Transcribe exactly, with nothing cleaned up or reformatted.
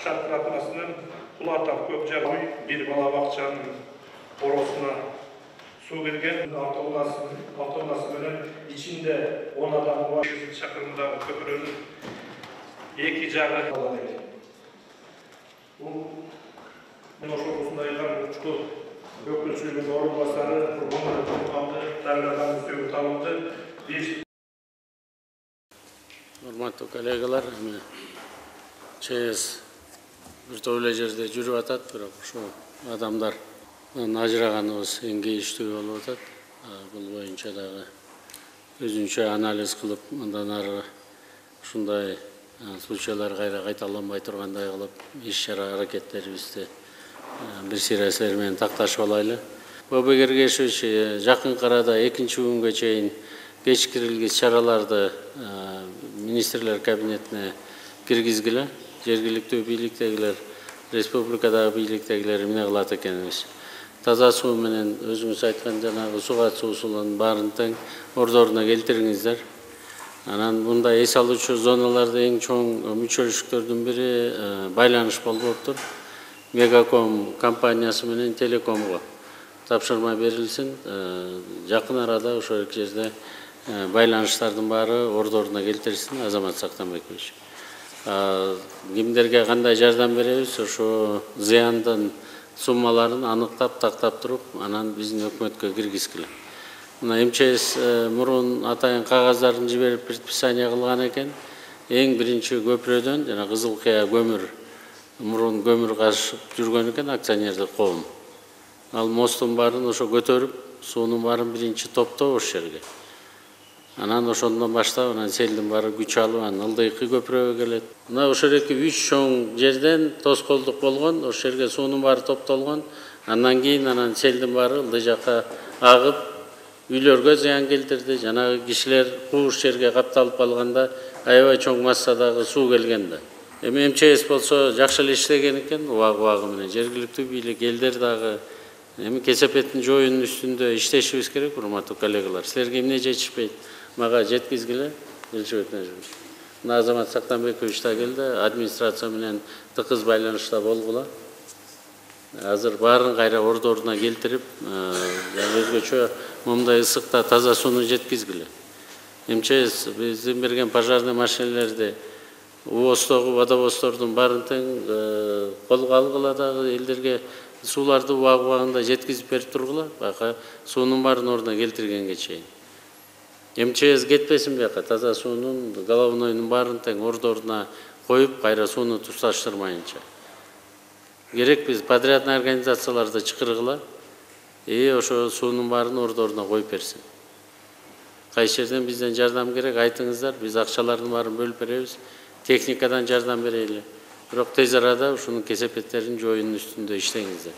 шатыратмасынан кулатап көп жагы бир бала бакчанын боросуна суу кирген. Автоунаасы менен ичинде он адам бар. Чакырымдагы көпүрөнүн эки жагы бул ошол ушундай учку өкүлчүлүгүнүн орун басары калды, дагы үстөгү табылды. Урматтуу коллегалар, ЧС бир топ эле жерде жүрүп атат, бирок ушул адамдар ажыраганыбыз эң кейиштүү болуп атат. Бул боюнча дагы өзүнчө анализ кылып, андан ары ушундай случайлар кайра кайталанбай тургандай кылып, иш-чара аракеттерибизди бир сирасылар менен такташып алайлы. Бобой Кергешевич жакынкы арада экинчи күнгө чейин кечкирилгис чараларды министрлер кабинетине киргизгиле. Жергиликтүү бийликтегилер, республикадагы бийликтегилер эмне кылат экенибиз. Таза суу менен өзүңүз айткан жанагы суу катышуусунун баарын тең ордоруна келтириңиздер. Анан мындай эс алуучу зоналарда эң чоң мүчөлүштүктөрдүн бири байланыш болуптур. Мегаком компаниясы менен Телекомго тапшырма берилсин. Жакын арада ошол эки жерде байланыштардын баары ордоруна келтирилсин. Азамат Сактанбекович. Кимдерге кандай жардам беребиз, ошо зыяндын суммаларын аныктап, тактап туруп, анан биздин өкмөткө киргизгиле. Мына МЧС мурун атайын кагаздарын жиберип предписание кылган экен. Эң биринчи көпүрөдөн жана Кызыл Кыя көмүр мурун көмүр кашып жүргөн экен акционердик коом. Ал мосттун баарын ошо көтөрүп, суунун баарын биринчи топтоо ошол жерге. Анан ошондон баштап анан селдин баары күч алып, анан ылдыйкы көпүрөгө келет. Мына ошол эки үч чоң жерден тоскоолдук болгон, ошол жерге суунун баары топтолгон. Андан кийин анан селдин баары ылдый жакка агып, үйлөргө зыян келтирди. Жанагы кишилер кууш жерге капталып калганда аябай чоң массадагы суу келген да. Эми МЧС болсо жакшы эле иштеген экен, убагы-убагы менен. Жергиликтүү бийлик элдер дагы эми кесепеттин жоюунун үстүндө иштешибиз керек, урматтуу коллегалар. Силерге эмне жетишпейт? Мага жеткизгиле, Элчебек Нажибович. Мына Азамат Сактанбекович да келди, администрация менен тыкыз байланышта болгула. Азыр баарын кайра ордоруна келтирип, өзгөчө момундай ысыкта таза сууну жеткизгиле. МЧС биздин берген пожарный машинелерди УОСтогу водовоздордун баарын тең колго алгыла дагы элдерге сууларды убагы-убагында жеткизип берип тургула, бака суунун баарын ордуна келтиргенге чейин. МЧС кетпесин бияка, таза суунун, головнойдун баарын тең ордоруна коюп, кайра сууну туздаштырмайынча. Керек биз подрядный организацияларды чакыргыла, и ошо суунун баарын ордоруна коюп берсин. Кайсы жерден бизден жардам керек, айтыңыздар, биз акчалардын баарын бөлүп беребиз, техникадан жардам берели. Бирок тез арада ушунун кесепеттерин жоюунун үстүндө иштеңиздер.